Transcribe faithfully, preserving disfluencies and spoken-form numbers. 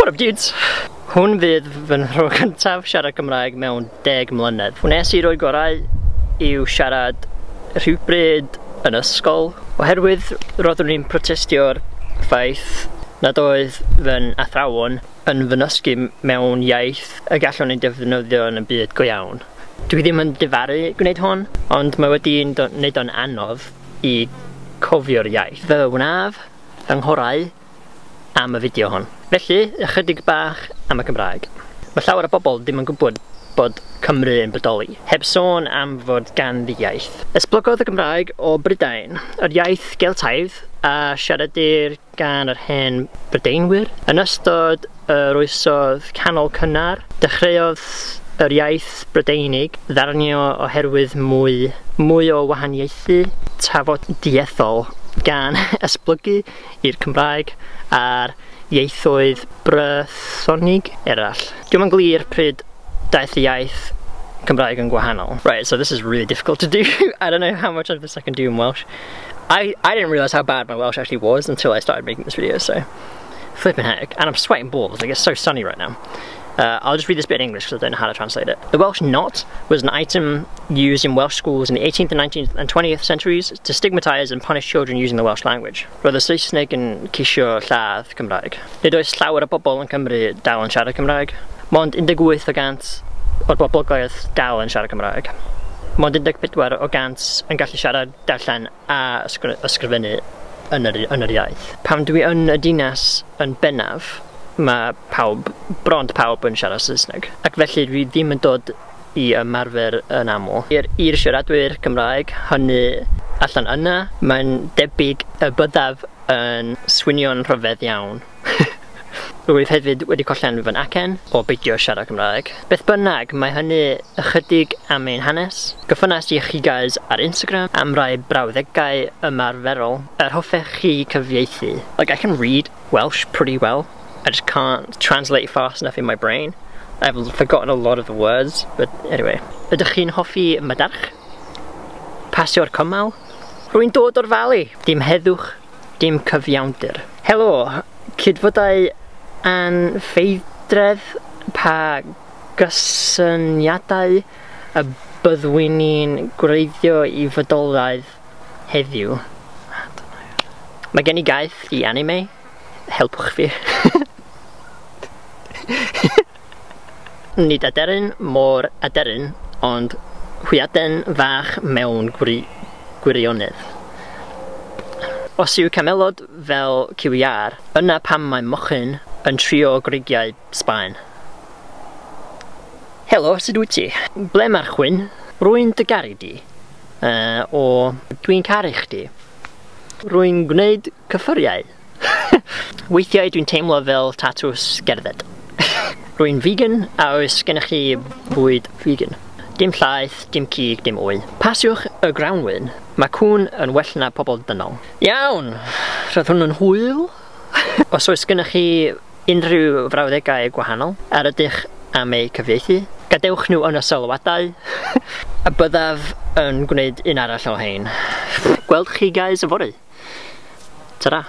What up, dudes? Hwn fydd fy nhro cyntaf siarad Cymraeg mewn deg mlynedd. Wnes i roi gorau i'w siarad rhywbryd yn ysgol, oherwydd roeddwn i'n protestio'r ffaith nad oedd fy athrawon yn fy nysgu mewn iaith y gallwn ei defnyddio yn y byd go iawn. Dwi ddim yn difaru gwneud hwn, ond mae wedi wneud o'n anodd i cofio'r iaith. Fe wnaf fy nghorau am y fideo hon. Felly, ychydig bach am y Cymraeg. Mae llawer o bobl ddim yn gwybod bod Cymru yn bodoli, heb sôn am fod ganddi iaith. Esblygodd y Gymraeg o Brydain, yr iaith Geltaidd a siaradir gan yr hen Brydeinwyr. Yn ystod yr oesoedd canol cynnar, dechreuodd yr iaith Brydeinig ddarnio oherwydd mwy, mwy o wahaniaethu tafodieithol gan esblygu i'r Cymraeg a'r ieithoedd Brythonig eraill. Dwi'm yn glir pryd daeth y iaith Cymraeg yn gwahanol. Right, so this is really difficult to do. I don't know how much of this I can do in Welsh. I, I didn't realise how bad my Welsh actually was until I started making this video, so flipping heck. And I'm sweating balls, like it's so sunny right now. Uh, I'll just read this bit in English because I don't know how to translate it. The Welsh Not was an item used in Welsh schools in the eighteenth and nineteenth and twentieth centuries to stigmatise and punish children using the Welsh language. Roedd y Saesneg yn ceisio lladd Cymraeg. Nid oes llawer o bobl yn Cymru dal yn siarad Cymraeg. Mond un deg wyth o gant o'r boblogaeth dal yn siarad Cymraeg. Mond un deg pedwar o gant yn gallu siarad, darllen a ysgrifennu yn yr, yn yr iaith. Pan dwi yn y dinas yn bennaf, mae pawb, bron pawb yn siarad Saesneg. Ac felly dwi ddim yn dod i ymarfer yn aml. I'r i'r siaradwyr Cymraeg hynny allan yna, mae'n debyg y byddaf yn swnio'n rhyfedd iawn. Rwyf hefyd wedi collen fy acen o beidio siarad Cymraeg. Beth bynnag, mae hynny ychydig am ein hanes. Gofynnais i chi guys ar Instagram am rai brawddegau ymarferol yr hoffech chi cyfieithu. Like, I can read Welsh pretty well. I just can't translate fast enough in my brain. I've forgotten a lot of the words, but anyway. Ydych chi'n hoffi madarch? Pasio'r cymal? Rwy'n dod o'r Fali. Dim heddwch, dim cyfiawnder. Helo, cydfodau anfeidredd, pa gysyniadau y byddwn ni'n gwreiddio i fodolaeth heddiw? Mae gen i gaeth i anime. Helpwch fi. Nid aderyn mor aderyn, ond hwyaden fach mewn gwri gwirionedd. Os yw camelod fel cyw iâr, yna pam mae mochyn yn trio grugiau Sbaen. Helo, sut wyt ti? Ble mae'r chwyn? Rwy'n dy garu di. Uh, o dwi'n caru chdi. Rwy'n gwneud cyffuriau. Weithiau dwi'n teimlo fel tatws gerdded. Rwy'n vegan, a oes gennych chi bwyd vegan? Dim llaeth, dim cig, dim wy. Pasiwch y grawnwin. Mae cŵn yn well na pobl dynol. Iawn! Roedd hwn yn hwyl. Os oes gennych chi unrhyw frawddegau gwahanol a rydych am eu cyfieithu, gadewch nhw yn y sylwadau a byddaf yn gwneud un arall o hein. Gweld chi guys yfory. Ta-ra!